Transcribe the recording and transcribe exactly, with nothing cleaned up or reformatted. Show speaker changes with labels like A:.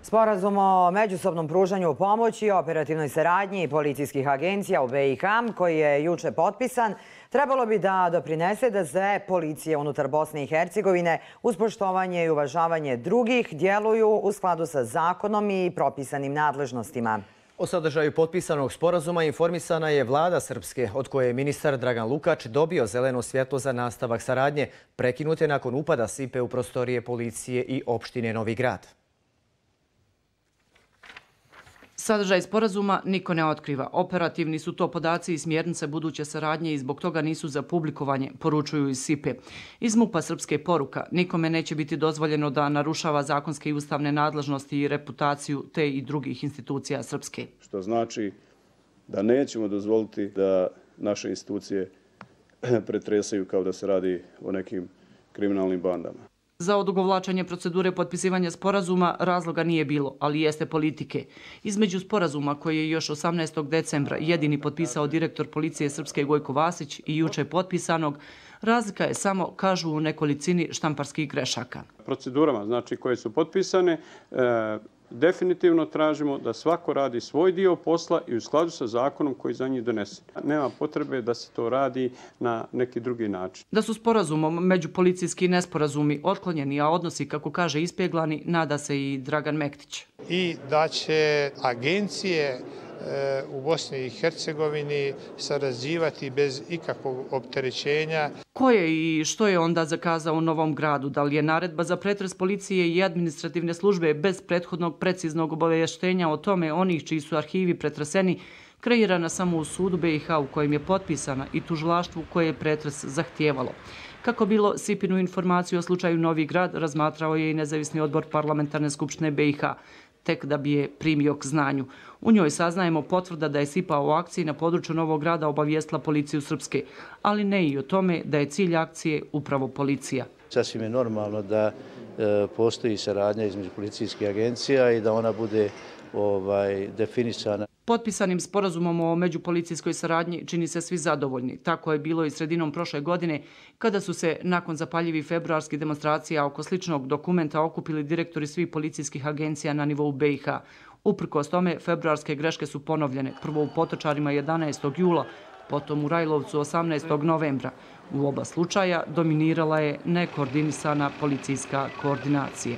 A: Sporazum o međusobnom pružanju pomoći i operativnoj saradnji policijskih agencija u B i H, koji je juče potpisan, trebalo bi da doprinese da sve policije unutar Bosne i Hercegovine uz poštovanje i uvažavanje drugih djeluju u skladu sa zakonom i propisanim nadležnostima.
B: O sadržaju potpisanog sporazuma informisana je vlada Srpske, od koje je ministar Dragan Lukač dobio zeleno svjetlo za nastavak saradnje, prekinute nakon upada sipe u prostorije policije i opštine Novi Grad.
C: Sadržaj sporazuma niko ne otkriva. Operativni su to podaci i smjernice buduće saradnje i zbog toga nisu za publikovanje, poručuju iz sipe. Iz MUP-a Srpske poruka: nikome neće biti dozvoljeno da narušava zakonske i ustavne nadležnosti i reputaciju te i drugih institucija Srpske.
D: Što znači da nećemo dozvoliti da naše institucije pretresaju kao da se radi o nekim kriminalnim bandama.
C: Za odugovlačenje procedure potpisivanja sporazuma razloga nije bilo, ali jeste politike. Između sporazuma koji je još osamnaestog decembra jedini potpisao direktor policije Srpske Gojko Vasić i juče potpisanog, razlika je samo, kažu, u nekolicini štamparskih grešaka.
E: Procedurama, znači, koje su potpisane, e, definitivno tražimo da svako radi svoj dio posla i u skladu sa zakonom koji za njih donese. Nema potrebe da se to radi na neki drugi način.
C: Da su sporazumom međupolicijski nesporazumi otklonjeni, a odnosi, kako kaže, ispeglani, nada se i Dragan Mektić.
F: I da će agencije u Bosni i Hercegovini sarađivati bez ikakvog opterećenja.
C: Ko je i što je onda zakazao u Novom Gradu? Da li je naredba za pretres policije i administrativne službe bez prethodnog preciznog obavještenja o tome onih čiji su arhivi pretreseni kreirana samo u sudu B i H u kojem je potpisana i tužilaštvu koje je pretres zahtijevalo? Kako bilo, sipinu informaciju o slučaju Novi Grad razmatrao je i nezavisni odbor parlamentarne skupštine B i H, tek da bi je primio k znanju. U njoj saznajemo potvrda da je SIPA o akciji na području Novog Grada obavijestila policiju Srpske, ali ne i o tome da je cilj akcije upravo policija.
G: Sasvim je normalno da e, postoji saradnja između policijskih agencija i da ona bude ovaj, definisana.
C: Potpisanim sporazumom o međupolicijskoj saradnji čini se svi zadovoljni. Tako je bilo i sredinom prošle godine, kada su se nakon zapaljivih februarskih demonstracija oko sličnog dokumenta okupili direktori svih policijskih agencija na nivou B i H. Uprkos tome, februarske greške su ponovljene, prvo u Potočarima jedanaestog jula, potom u Rajlovcu osamnaestog novembra. U oba slučaja dominirala je nekoordinisana policijska koordinacija.